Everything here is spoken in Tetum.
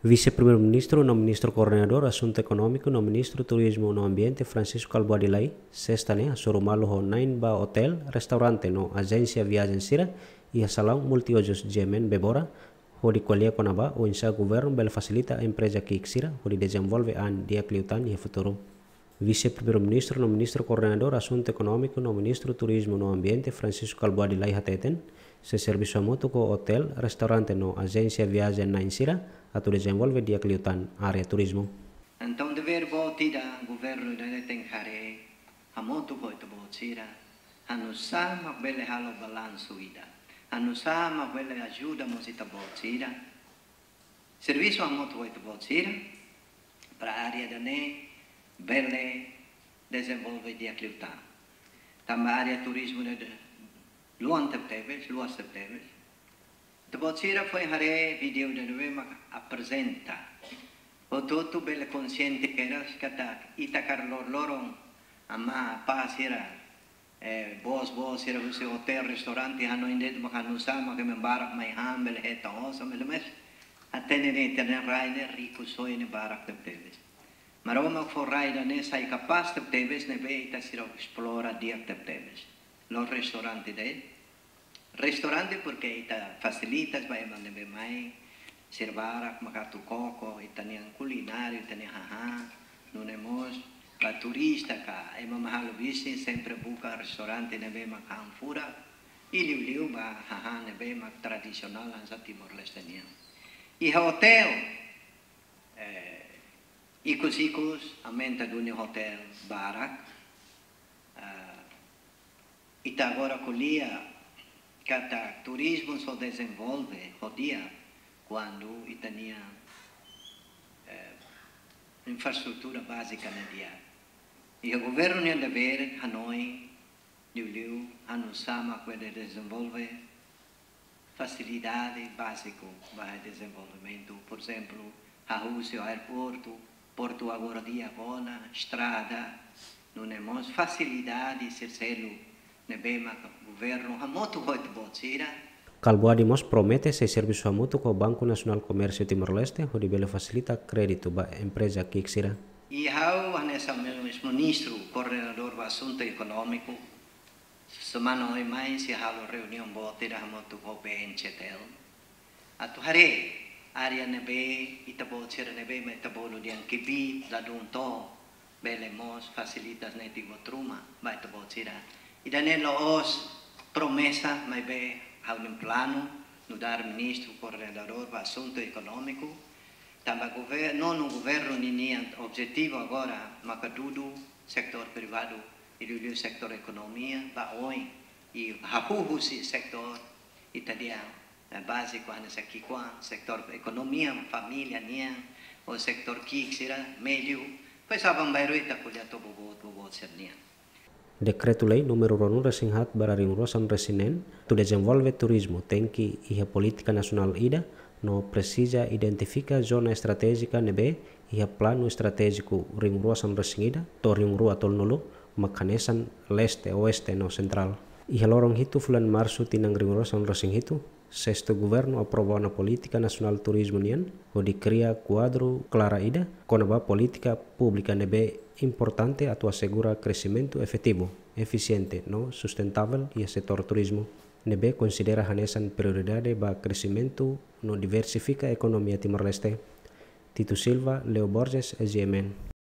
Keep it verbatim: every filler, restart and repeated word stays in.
Vise-Primeiru-Ministru no Ministru Koordenadór Asuntu Ekonómiku no Ministru Turizmu no Ambiente, Francisco Kalbuadi Lay, sesta ne'e hasoru malu ho na'in ba otél, restaurante no ajénsia viajen sira iha salaun multiuzus G M N Bebora, hodi ko'alia kona-ba oinsá governu bele fasilita empreza ki'ik sira hodi dezenvolve an di'ak liután iha futuru. Vise-Primeiru-Ministru no Ministru Koordenadór Asuntu Ekonómiku no Ministru Turizmu no Ambiente, Francisco Kalbuadi Lay, hateten, sei servisu hamutuk ho otél, restaurante no ajénsia viajen na'in sira atu dezenvolve di'ak liután área turizmu. Entaun, devér boot ida governu ida-ne'e tenke haree hamutuk ho ita-boot sira, hanusá mak bele halo balansu ida, hanusá mak bele ajuda mós ita-boot sira, servisu hamutuk ho ita-boot sira, para área ida-ne'e bele dezenvolve di'ak liután. Tanba área turizmu ne'e luan tebetebes, luas tebetebes. Ita-boot sira foin haree vídeo ida ne'ebé mak aprezenta. Hotu-hotu bele konsiente kedas katak ita karik loroloron, amá, apá sira, eh, bos-bos sira husi otél, restaurante, hanoin de'it mak hanusá mak ema barak mai han, bele hetan osan, bele, mais hatene ne'e, ita-nia rai ne'e riku, soe ne'e barak tebetebes. Maromak fó rai ida-ne'e sai kapás tebetebes ne'ebé ita seidauk esplora di'ak tebetebes. La'ós restaurante de'it. Restaurante porque ita fasilita ba ema ne'ebé mai, sira barak mak atu koko ita-nia kulinária, ita-nia hahán, nune'e mós ba turista ka ema mak halo bisnis sempre buka restaurante ne'ebé mak han furak, i liuliu ba hahán ne'ebé mak tradisionál hanesan Timor-Leste nian. Iha otél, eh, ikus-ikus aumenta duni otél barak. Ah, ita agora ko'alia katak turizmu só dezenvolve ho di'ak kuandu ita-nia, eh, infraestrutura bázika ne'e di'ak. Iha governu nia devér hanoin, liuliu hanusá mak bele dezenvolve fasilidade báziku ba dezenvolvimentu, por ezemplu, hahú husi aeroportu, portu agora di'ak ona, estrada, nune'e mós fasilidade sira seluk ne'ebé mak governu hamutuk ho ita-boot sira. Kalbuadi mós promete sei servisu hamutuk ho Banku Nasionál Komérsiu Timor-Leste hodi bele fasilita kréditu ba empreza ki'ik sira. I ha'u hanesan mós Ministru Koordenadór ba Asuntu Ekonómiku, semana oin mai sei halo reuniaun boot ida hamutuk ho B N C T L. Atu haree área ne'ebé ita-boot sira ne'ebé mak ita bolu dehan kbiit ladún to'o, bele mós fasilita netik buat ruma ba ita-boot sira. Ida-ne'e la'ós promesa, maibé ha'u-nia planu nu'udar Ministru Koordenadór ba Asuntu Ekonómiku. Tanba gover-, nonu governu ninian objetivu agora maka dudu setór privadu i liuliu setór ekonomia ba oin, i hahú husi setór ita dehan, eh, báziku hanesan ki'ikoan, setór ekonomia família nian, ou setór ki'ik sira, médiu, depois aban-bainrua ita ko'alia to'o boboot, boboot sira-nian. Dekretu-Lei númeru ruanulu-resin-haat barra rihun-rua-sanulu-resin-neen, atu dezenvolve turizmu tenke iha polítika nasionál ida, no presiza identifika zona estratéjika ne'ebé iha Planu Estratéjiku rihun-rua-sanulu-resin-ida to'o rihun-rua-tolunulu, mak hanesan leste, oeste no sentrál. Iha loron hitu fulan Marsu tinan rihun-rua-sanulu-resin-hitu, Sestu Governu aprova ona polítika nasionál turizmu nian, hodi kria kuadru klaru ida kona-ba polítika públika ne'ebé importante atu asegura kresimentu efetivu, efisiente no sustentável iha setór turizmu, ne'ebé konsidera hanesan prioridade ba kresimentu no diversifika ekonomia Timor-Leste. Tito Silva, Leo Borges, S G M N.